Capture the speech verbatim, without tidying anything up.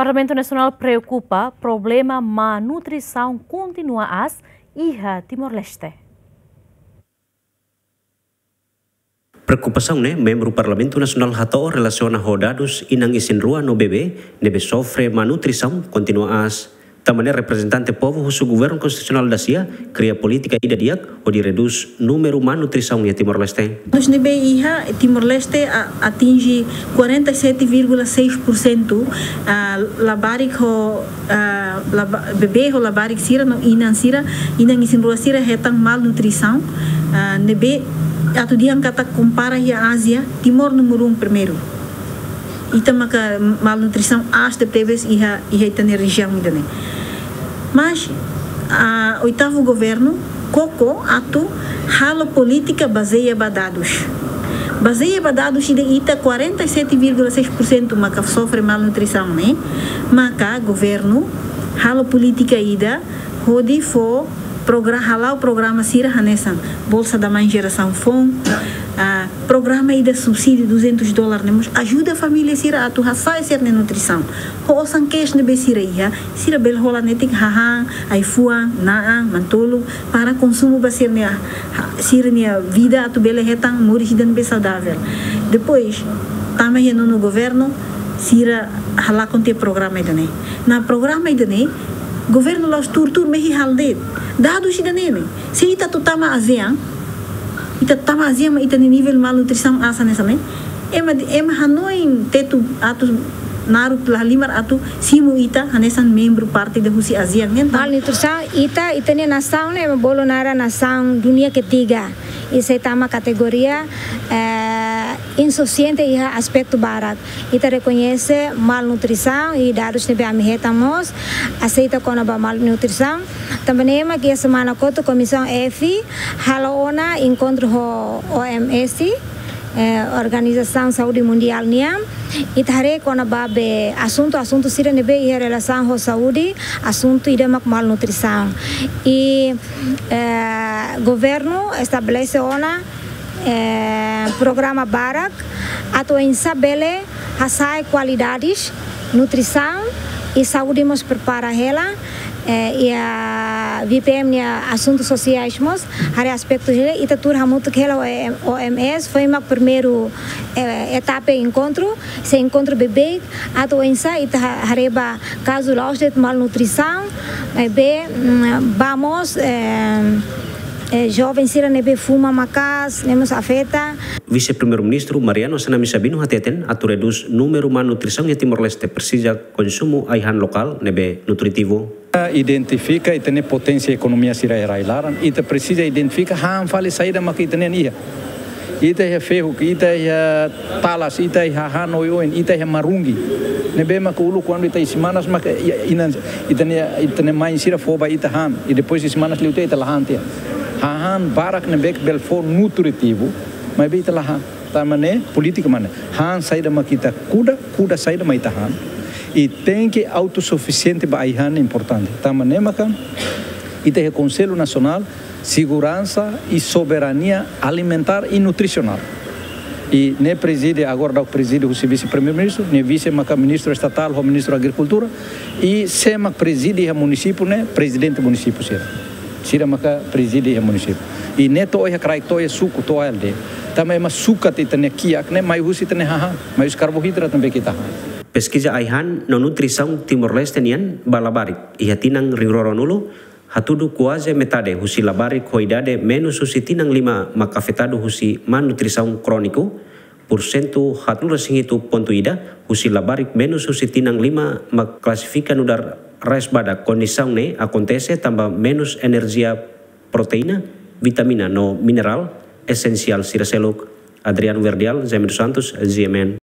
Parlamentu Nasionál preokupa problema má nutrisaun kontinua aas iha Timor-Leste. Preokupasaun ne'e membru Parlamentu Nasionál hato'o relasiona ho dadus inan isin-rua no bebé ne'ebé sofre má nutrisaun kontinua aas. Tanba ne'e reprezentante povu husu Governu Konstitusionál dasia kria polítika ida di'ak hodi redús númeru má nutrisaun iha Timor-Leste. Dadus ne'ebé iha Timor-Leste a-, atinje quarenta e sete vírgula seis por cento, ah, labarik ho, ah, laba-, bebé ho labarik sira no inan sira, inan isin-rua sira hetan malnutrisaun, ah, ne'ebé atu dehan katak kompara iha Ázia, Timor númeru um primeiru. Ita maka malnutrisaun aas tebetebes iha, iha ita-nia rejiaun ida-ne'e. Mas, ah, oitavu governu koko atu halo polítika bazeia ba dadus. Bazeia ba dadus ida ita quarenta e sete vírgula seis por cento maka sofre malnutrisaun ne'e, maka governu halo polítika ida hodi fó progra-, hala'o programa sira hanesan Bolsa da Mãe Gerasaun Foun, ah, programa ida subsídiu duzentos dólar ne'e mós ajuda família sira atu hasa'e sira-nia nutrisaun. Ho osan kedas ne'ebé sira iha, sira bele hola netik hahán, ai-fuan, na'an, manu-tolun, para konsumu ba sira-nia, ha-, sira-nia vida atu bele hetan moris ida ne'ebé saudavel. Depois, tama iha nonu governu, sira halakon tiha programa ida-ne'e. Nah, programa ida-ne'e, governu la'ós tuur-tuur mehi halo de'it. Dadus ida-ne'e ne'e. Se ita atu tama ASEAN, ita tama ASEAN mak ita-nia nivel malnutrisaun aas hanesan ne'e. Ema, ema hanoin tetu atu naruk la halimar atu simu ita hanesan membru parte ida husi ASEAN ne'e. Malnutrisaun, ita, ita-nia nasaun ne'e ema bolu naran nasaun dunia ketiga. I sei tama kategoria, eh, insufisiente iha aspetu barak. Ita rekoñese malnutrisaun i dadus ne'ebé ami hetan mós aseita kona-ba malnutrisaun. Tanba ne'e mak iha semana kotuk Komisaun F halo ona enkontru ho OMS, eh, Organizasaun Saúde Mundiál nian. Ita haree kona-ba be asuntu, asuntu sira ne'ebé iha relasaun ho saúde, asuntu ida mak malnutrisaun. I, eh, governu estabelese ona eh, programa barak atu oinsá bele hasa'e kualidades nutrisaun i saúde mós prepara hela, eh, iha VPM nia asuntu sosiais mós, haree aspetu hela, ita tuur hamutuk hela ho OMS, foin mak primeiru, eh, etapa enkontru, sei enkontru beibeik, atu oinsá ita ha-, haree ba kazu la'ós de'it malnutrisaun, maibé, mm, ba mós, eh, eh, joven sira ne'ebé fuma maka'as, ne'e mós afeta. Vise-Primeiru-Ministru Mariano Assanami Sabino hateten, atu redús númeru malnutrisaun iha Timor-Leste presiza konsumu ai-han lokál ne'ebé nutritivu. Identifika ita-nia poténsia ekonomia sira iha rai-laran, ita presiza identifika han fali saida maka ita-nian iha. Ita iha fehuk, ita iha talas, ita iha han oioin, ita iha marungi. Ne'ebé maka uluk kuandu ita isin-manas maka i-, inan, ita-nia, ita-nia mãe sira fó ba ita han. I depois isin-manas liutiha ita la han tiha. Hahán barak ne'ebé bele fó nutritivu, maibé ita la han. Tanba ne'e, polítika mak ne'e. Han saida maka ita kuda, kuda saida mak ita han. I tenke autosufisiente ba ai-han importante. Tanba ne'e maka ita iha Konsellu Nasionál Seguransa i Soberania Alimentár i Nutrisionál. I ne'e prezide, agora daudaun prezide husi Vise-Primeiru-Ministru, ne'e vise maka Ministru Estatál ho Ministru Agrikultura, i sé mak prezide iha munisípiu ne'e, prezidente munisípiu sira. Sira maka prezide iha munisípiu. I ne'e to'o iha kraik, to'o iha suku, to'o iha aldeia. Tanba ema sukat ita-nia kiak ne'e mai husi ita-nia hahán, mai husi karbohidrat ne'ebé ita han. Peskiza ai-han no nutrisaun Timor-Leste nian ba labarik iha tinan rihun rua ruanulu, hatudu kuaze metade husi labarik ho idade menus husi tinan lima mak afetadu husi malnutrisaun króniku, pursentu haatnulu-resin-hitu pontu ida husi labarik menus husi tinan lima mak klasifika nu'udar resbadak. Kondisaun ne'e akontese tanba menus enerjia, proteína, vitamina no minerál esensiál sira seluk. Adriano Verdial, Jaime dos Santos, GMN.